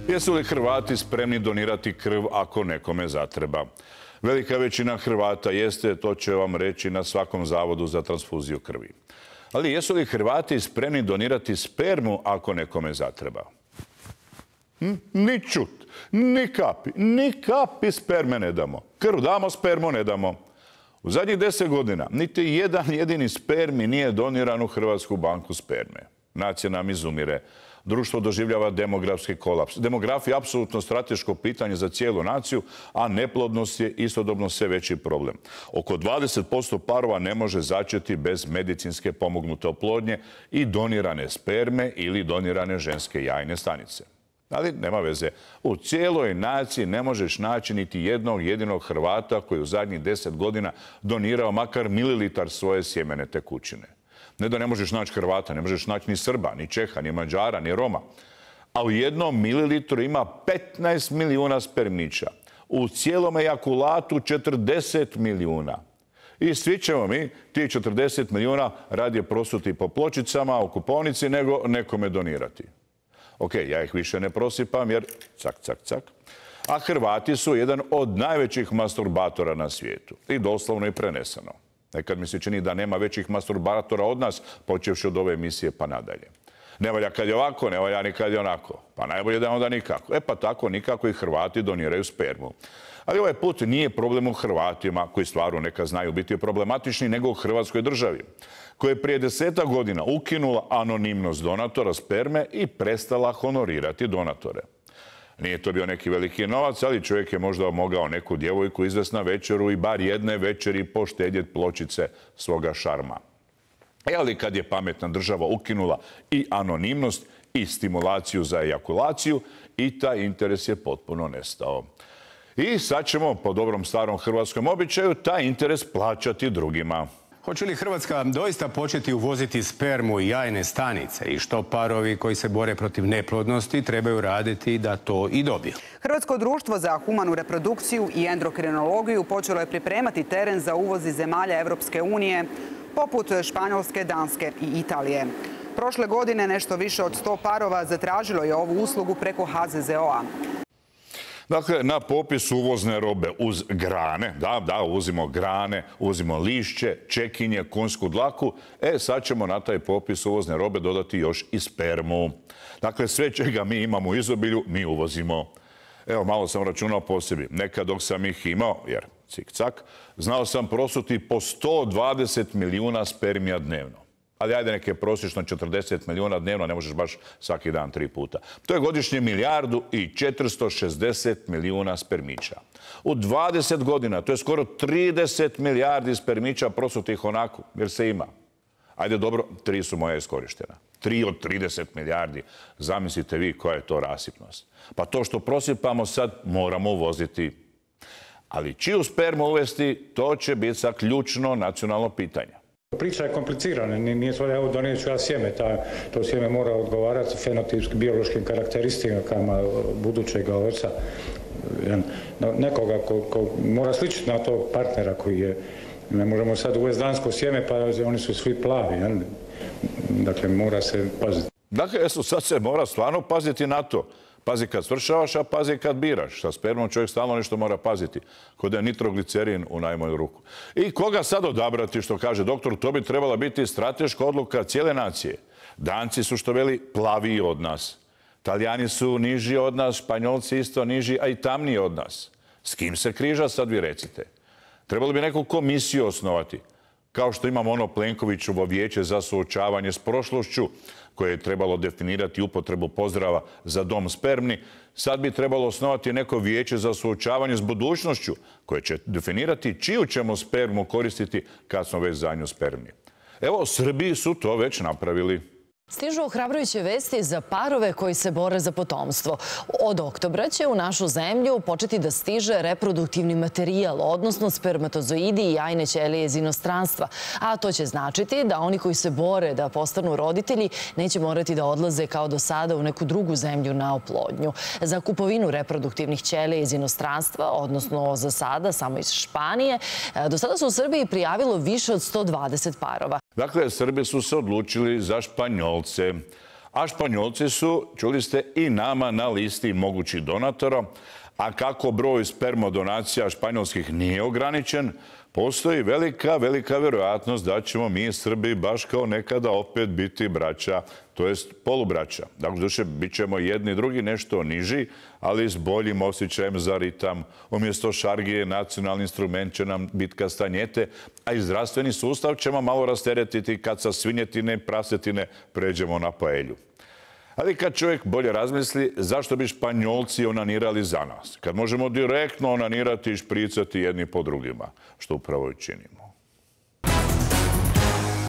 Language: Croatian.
Jesu li Hrvati spremni donirati krv ako nekome zatreba? Velika većina Hrvata jeste, to će vam reći na svakom zavodu za transfuziju krvi. Ali jesu li Hrvati spremni donirati spermu ako nekome zatreba? Ni čut, ni kapi sperme ne damo. Krv damo, spermu ne damo. U zadnjih 10 godina niti jedan jedini spermi nije doniran u Hrvatsku banku sperme. Nacija nam izumire. Društvo doživljava demografski kolaps. Demografija je apsolutno strateško pitanje za cijelu naciju, a neplodnost je istodobno sve veći problem. Oko 20% parova ne može začeti bez medicinske pomognute oplodnje i donirane sperme ili donirane ženske jajne stanice. Ali nema veze. U cijeloj naciji ne možeš naći niti jednog jedinog Hrvata koji u zadnjih 10 godina donirao makar mililitar svoje sjemene tekućine. Ne da ne možeš naći Hrvata, ne možeš naći ni Srba, ni Čeha, ni Mađara, ni Roma. A u jednom mililitru ima 15 milijuna spermića. U cijelom ejakulatu 40 milijuna. I svi ćemo mi, ti 40 milijuna, radije prosuti po pločicama u kupovnici nego nekome donirati. Ok, ja ih više ne prosipam jer cak, cak, cak. A Hrvati su jedan od najvećih masturbatora na svijetu. I doslovno i preneseno. Nekad mi se čini da nema većih masturbatora od nas, počevši od ove emisije pa nadalje. Ne valja kad je ovako, ne valja ni kad je onako. Pa najbolje da onda nikako. E pa tako nikako i Hrvati doniraju spermu. Ali ovaj put nije problem u Hrvatima, koji stvarno nekad znaju biti problematični, nego u Hrvatskoj državi, koja je prije 10 godina ukinula anonimnost donatora sperme i prestala honorirati donatore. Nije to bio neki veliki novac, ali čovjek je možda mogao neku djevojku izvesti na večeru i bar jedne večeri poštedjeti pločice svoga šarma. Ali kad je pametna država ukinula i anonimnost i stimulaciju za ejakulaciju, i taj interes je potpuno nestao. I sad ćemo, po dobrom starom hrvatskom običaju, taj interes plaćati drugima. Hoće li Hrvatska doista početi uvoziti spermu i jajne stanice i što parovi koji se bore protiv neplodnosti trebaju raditi da to i dobiju? Hrvatsko društvo za humanu reprodukciju i endokrinologiju počelo je pripremati teren za uvoz iz zemalja Europske unije, poput Španjolske, Danske i Italije. Prošle godine nešto više od 100 parova zatražilo je ovu uslugu preko HZZO-a. Dakle, na popis uvozne robe uz grane, da, uvozimo grane, uvozimo lišće, čekinje, konjsku dlaku, sad ćemo na taj popis uvozne robe dodati još i spermu. Dakle, sve čega mi imamo u izobilju, mi uvozimo. Evo, malo sam računao po sebi. Nekad dok sam ih imao, jer cik-cak, znao sam prosuti po 120 milijuna spermija dnevno. Ali ajde neke prosječno 40 milijuna dnevno, ne možeš baš svaki dan 3 puta. To je godišnje 1.460 milijuna spermića. U 20 godina, to je skoro 30 milijardi spermića prosutih onako, jer se ima. Ajde dobro, 3 su moja iskorištena. 3 od 30 milijardi. Zamislite vi koja je to rasipnost. Pa to što prosipamo sad moramo uvoziti. Ali čiju spermu uvesti, to će biti sad ključno nacionalno pitanje. Priča je komplicirana, nije sve evo donijet ću ja sjeme, to sjeme mora odgovarati fenotipskim biološkim karakteristikama budućeg oca. Nekoga ko mora sličiti na tog partnera koji je, ne možemo sad uvesti dansko sjeme pa oni su svi plavi, dakle mora se paziti. Dakle, sad se mora stvarno paziti na to. Pazi kad svršavaš, a pazi kad biraš. Sa spermom čovjek stalno nešto mora paziti. Kod je nitroglicerin u najmanju ruku. I koga sad odabrati, što kaže doktor, to bi trebala biti strateška odluka cijele nacije. Danci su, što veli, plaviji od nas. Talijani su niži od nas, Španjolci isto niži, a i tamniji od nas. S kim se križa, sad vi recite. Trebalo bi neku komisiju osnovati. Kao što imamo ono Plenkovićevo vijeće za suočavanje s prošlošću, koje je trebalo definirati upotrebu pozdrava za dom spermni, sad bi trebalo osnovati neko vijeće za suočavanje s budućnošću, koje će definirati čiju ćemo spermu koristiti kad smo već za nju spermni. Evo, Srbiji su to već napravili. Stižu ohrabrujuće vesti za parove koji se bore za potomstvo. Od oktobra će u našu zemlju početi da stiže reproduktivni materijal, odnosno spermatozoidi i jajne ćelije iz inostranstva. A to će značiti da oni koji se bore da postanu roditelji neće morati da odlaze kao do sada u neku drugu zemlju na oplodnju. Za kupovinu reproduktivnih ćelija iz inostranstva, odnosno za sada samo iz Španije, do sada su u Srbiji prijavilo više od 120 parova. Dakle, Srbi su se odlučili za Španjolce. A Španjolci su, čuli ste, i nama na listi mogućih donatora. A kako broj spermodonacija španjolskih nije ograničen, postoji velika vjerojatnost da ćemo mi Srbi baš kao nekada opet biti braća, to jest polubraća. Dakle, duše, bit ćemo jedni i drugi nešto niži, ali s boljim osjećajem za ritam. Umjesto šargije, nacionalni instrument će nam biti kastanjete, a i zdravstveni sustav ćemo malo rasteretiti kad sa svinjetine i prasetine pređemo na paelju. Ali kad čovjek bolje razmisli, zašto bi Španjolci onanirali za nas? Kad možemo direktno onanirati i špricati jedni po drugima, što upravo i činimo.